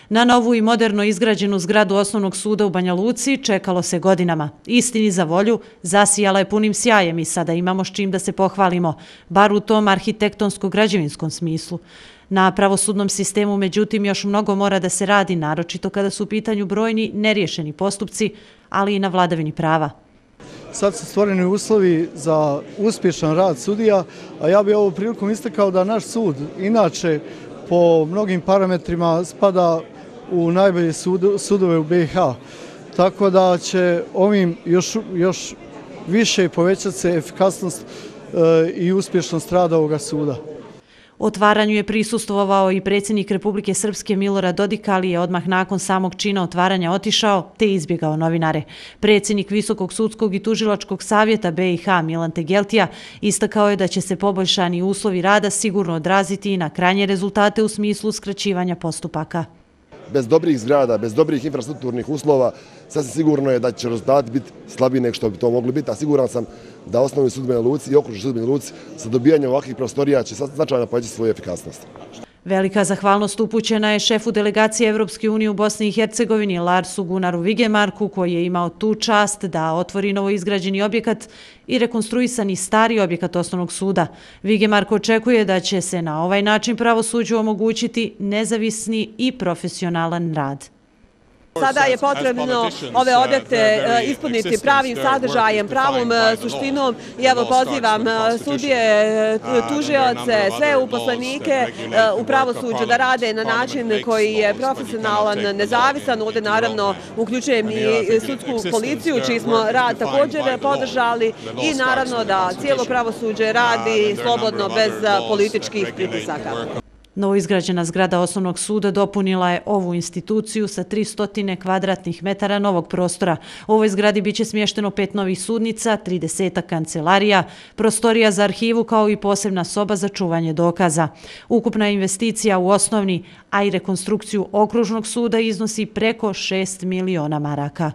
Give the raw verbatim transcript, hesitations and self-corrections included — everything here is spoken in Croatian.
Na novu i moderno izgrađenu zgradu Osnovnog suda u Banja Luci čekalo se godinama. Istini za volju, zasijala je punim sjajem i sada imamo s čim da se pohvalimo, bar u tom arhitektonsko-građevinskom smislu. Na pravosudnom sistemu, međutim, još mnogo mora da se radi, naročito kada su u pitanju brojni neriješeni postupci, ali i na vladavini prava. Sad su stvoreni uslovi za uspješan rad sudija, a ja bih ovom prilikom istakao da naš sud, inače, po mnogim parametrima spada u najbolje sudove u B i H. Tako da će ovim još, još više povećati se efikasnost i uspješnost rada ovoga suda. Otvaranju je prisustvovao i predsjednik Republike Srpske Milorad Dodik, ali je odmah nakon samog čina otvaranja otišao te izbjegao novinare. Predsjednik Visokog sudskog i tužilačkog savjeta B i H Milan Tegeltija istakao je da će se poboljšani uslovi rada sigurno odraziti i na krajnje rezultate u smislu skraćivanja postupaka. Bez dobrih zgrada, bez dobrih infrastrukturnih uslova, sasvim sigurno je da će rezultati biti slabiji nego što bi to mogli biti, a siguran sam da Osnovni sud u Banja Luci i Okružni sud u Banja Luci sa dobijanjem ovakvih prostorija će značajno povećati svoju efikasnost. Velika zahvalnost upućena je šefu delegacije Evropske unije u Bosni i Hercegovini Larsu Gunaru Vigemarku, koji je imao tu čast da otvori novoizgrađeni objekat i rekonstruisani stari objekat Osnovnog suda. Vigemark očekuje da će se na ovaj način pravosuđu omogućiti nezavisni i profesionalan rad. Sada je potrebno ove objekte ispuniti pravim sadržajem, pravom suštinom i evo pozivam sudije, tužioce, sve uposlenike u pravosuđu da rade na način koji je profesionalan, nezavisan. Ovdje naravno uključujem i sudsku policiju, čiji smo rad također podržali i naravno da cijelo pravosuđe radi slobodno bez političkih pritisaka. Novoizgrađena zgrada Osnovnog suda dopunila je ovu instituciju sa tristo kvadratnih metara novog prostora. U ovoj zgradi biće smješteno pet novih sudnica, trideset kancelarija, prostorija za arhivu kao i posebna soba za čuvanje dokaza. Ukupna investicija u osnovni, a i rekonstrukciju Okružnog suda iznosi preko šest miliona maraka.